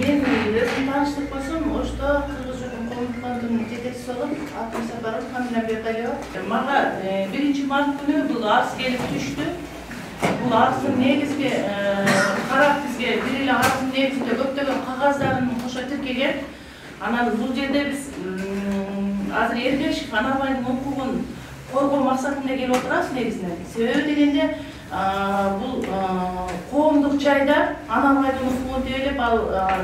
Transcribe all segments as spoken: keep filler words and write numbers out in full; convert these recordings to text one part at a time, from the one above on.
Мен өзüm tanıştık болсом, ошто Кыргыз Коомдук фондунун жетекчиси болуп, Алтын Сапаров Камила Бердалиева. Мага биринчи март күнү бул арыз келип түштү. Бул арыздын негизги карап бизге бир эле арыздын негизинде көптөгөн кагаздарын кошо тиркеген. Анан бул жерде биз азыр Эргешев Анарбайдын укугун коргоо максатында келип отурабыз негизинен. Себеби дегенде бул коомдук жайда Анарбайдын укугун тейлеп, ал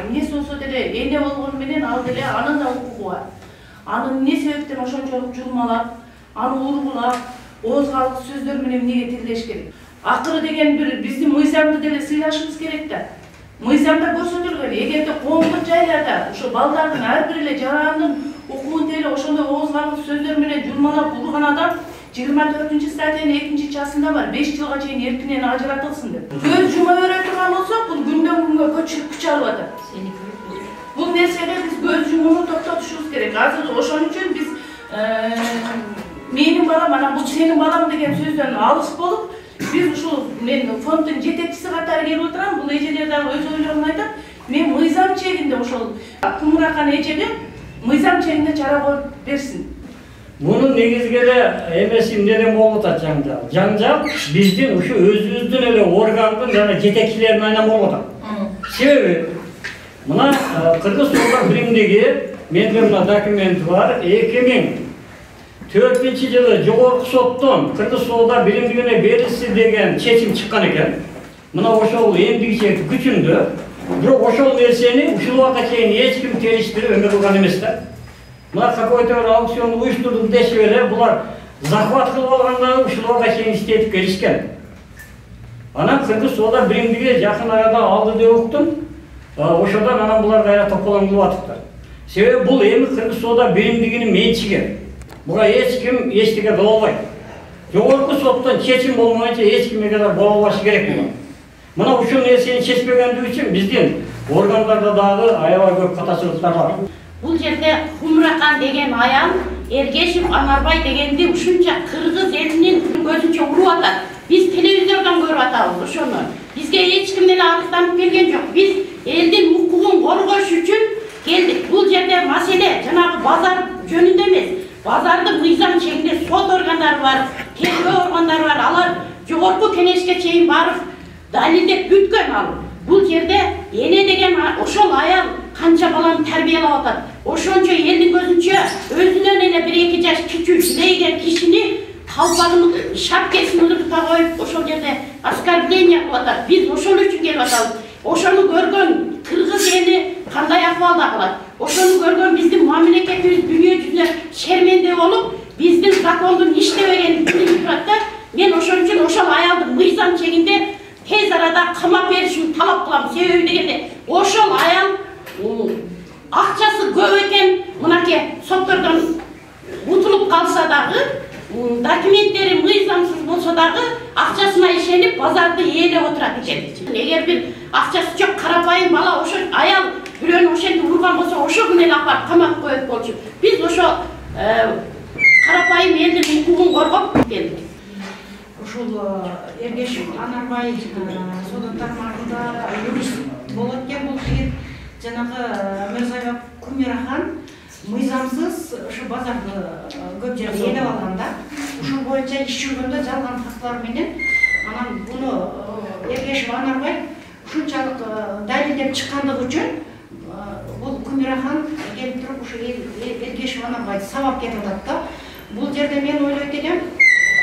эмнеси болсо деле эне болгону менен ал деле анын да укугу бар. Аны эмне себептен ошончолук журмалап, аны ургулап, оозгалык сөздөр менен эмнеге тилдеш керек? Акыры деген бир биздин мыйзамды деле сыйлашыбыз керек да. Мыйзамда көрсөтүлгөн, эгерде коомдук жайларда ошо балдардын ар бир эле жарандын укугун тейлеп, ошондой оозгалык сөздөр менен журмалап урган адам жыйырма төртүнчү статьянын экинчи часында бар, беш жылга чейин эркинен ажыратылсын деп. Көз жума бере турган болсок, бул күндөн күнгө күч алып атат. Бул нерсеге биз көз жумууну токтотушубуз керек. Азыр ошон үчүн биз менин балам, анан бул сенин балам деген сөздөн алыс болуп, биз ушул мен фонддун жетекчиси катары келип отурам. Бул эжелер дагы өз ойлорун айтат. Мен мыйзам чегинде ошол Кумуракан эжеге мыйзам чегинде чара коюп берсин. Мунун негизги эле эмеси эмнеден болуп атат жаңжал? Жаңжал биздин ушу өзүбүздүн эле органдын жана жетекчилеринин айынан болуп атат. Себеби мына Кыргыз Султан биримдиги менде мына документ бар. эки миң төртүнчү жылы жогорку соттон Кыргыз Султан биримдигине берилси деген чечим чыккан экен. Мына ошол эмдигиче күчүндө. Бирок ошол нерсени ушул убакка чейин эч ким териштирип эме кылган эмес да. Мына какой-то бир аукцион уюштурдук дешип эле булар захват кылып алгандан ушул убакка чейин иштетип келишкен. Анан Кыргыз Султан биримдиги жакын арада алды деп уктум. Ошодон анан булар кайра тополоң кылып атыптыр. Себеби бул эми Кыргыз Султан биримдигинин менчиги. Буга эч ким эчтеке кыла албайт. Жогорку соттон чечим болмойчу эч кимге да боло албашы керек бул. Мына ушул нерсени чечпегендиги үчүн биздин органдарда дагы аябай көп катачылыктар бар. Бул жерде Кумуракан деген аял Эргешев Анарбай дегенди ушунча кыргыз элинин көзүнчө уруп атат. Биз телевизордон көрүп атабыз ошону. Бизге эч ким эле арызданып келген жок. Биз элдин укугун коргош үчүн келдик. Бул жерде маселе жанагы базар жөнүндө эмес. Базардын мыйзам чегинде сот органдары бар, тергөө органдары бар. Алар жогорку кеңешке чейин барып далилдеп бүткөн ал. Бул жерде эне деген ошол аял канча баланы тарбиялап атат. Ошончо элдин көзүнчө өзүнөн эле бир эки жаш кичүү жилейген кишини калпагын шапкесин ыргыта коюп ошол жерде оскорбление кылып атат. Биз ошол үчүн келип атабыз. Ошону көргөн кыргыз эли кандай акыбалда калат? Ошону көргөн биздин мамлекетибиз дүйнө жүзүнө шерменде болуп, биздин закондун иштебегенин билип турат да. Мен ошон үчүн ошол аялды мыйзам чегинде тез арада камап беришин талап кылам. Себеби дегенде ошол аял акчасы көп экен, мынакей соттордон утулуп калса дагы, документтери мыйзамсыз болсо дагы акчасына ишенип базарды ээлеп отурат экен. Эгер бир акчасы жок карапайым бала ошо аял бирөөнү ошентип урган болсо, ошо күнү эле апарып камап коет болчу. Биз ошо карапайым элдин укугун коргоп келдик. Ушул Эргешев Анарбай сот тармагында юрист болот экен бул жигит. Жанагы Мырзабек Кумуракан мыйзамсыз ушу базарды көп жерде ээлеп алган да. Ушул боюнча иш жүргөндө жалган фактылар менен анан буну Эргешев Анарбай ушунчалык далилдеп чыккандыгы үчүн бул Кумуракан келип туруп ушу Эргешев Анарбайды сабап кетип атат да. Бул жерде мен ойлойт элем,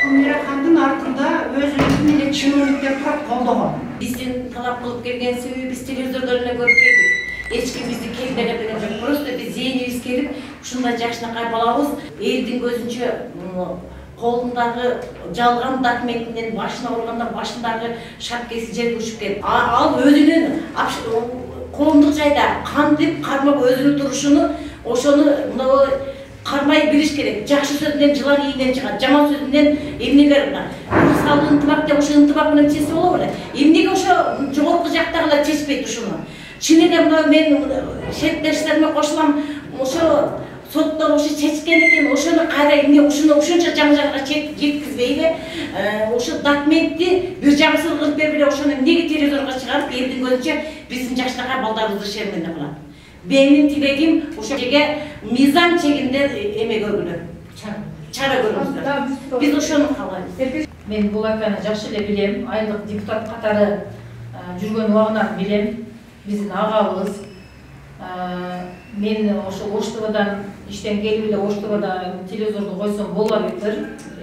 Кумуракандын артында өзүнүн эле чиновниктер турат колдогон. Биздин талап кылып келген себеби биз телевизордон эле көрүп келдик. Эч ким бизди келбеген деген жок. Просто биз зээнибиз келип, ушундай жакшынакай балабыз элдин көзүнчө колундагы жалган документинен башына урганда башындагы шапкеси жерге учуп кетти. Ал өзүнүн коомдук жайда кантип кармап өзүнүн турушуну ошону мына кармай билиш керек. Жакшы сөздөн жылан ийинен чыгат, жаман сөздөн эмнеге кыргызстандын ынтымак деп ошо ынтымак менен чечсе болобу эле. Эмнеге ошо жогорку жактагылар чечпейт ушуну? Чын эле мына мен шеттештериме кошулам, ошо соттор ошо чечкен экен, ошону кайра эмне ушуну ушунча жаңжалга жеткизбейби, ошо документти бир жагсыз кылып берип эле ошону эмнеге телевизорго чыгарып элдин көзүнчө биздин жакшынакай балдарыбызды шермендеп кылат. Менин тилегим ошо жерге мыйзам чегинде эме көргүлө. Чара көрүңүздөр. Биз ошону каалайбыз. Мен бул аканы жакшы эле билем, айылдык депутат катары жүргөн убагынан билем. Биздин агабыз. Мен ошо Ош ТВдан иштен келип эле Ош ТВда телевизорду койсом болбойдур.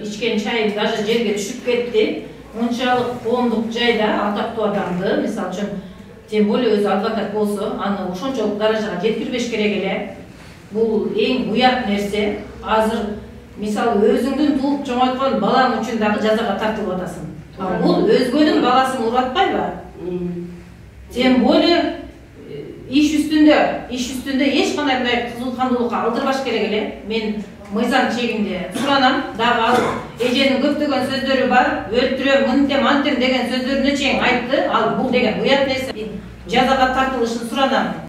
Ичкен чайым даже жерге түшүп кетти. Унчалык коомдук жайда атактуу адамды, мисалы үчүн, тем более өзү адвокат болсо, аны ошончолук даражага жеткирбеш керек эле. Бул эң уят нерсе. Азыр мисалы өзүңдүн тууп чоңойткон балаң үчүн дагы жазага тартылып атасың. А бул өзгөнүн баласын уруп атпайбы? Тем более иш үстүндө, иш үстүндө эч кандай мындай кызылкандуулукка алдырбаш керек эле. Мен мыйзам чегинде суранам, дагы ал эженин көптөгөн сөздөрү бар, өлтүрөм, мынтем, антем деген сөздөрүнө чейин айтты. Ал бул деген уят нерсе. Жазага тартылышын суранам.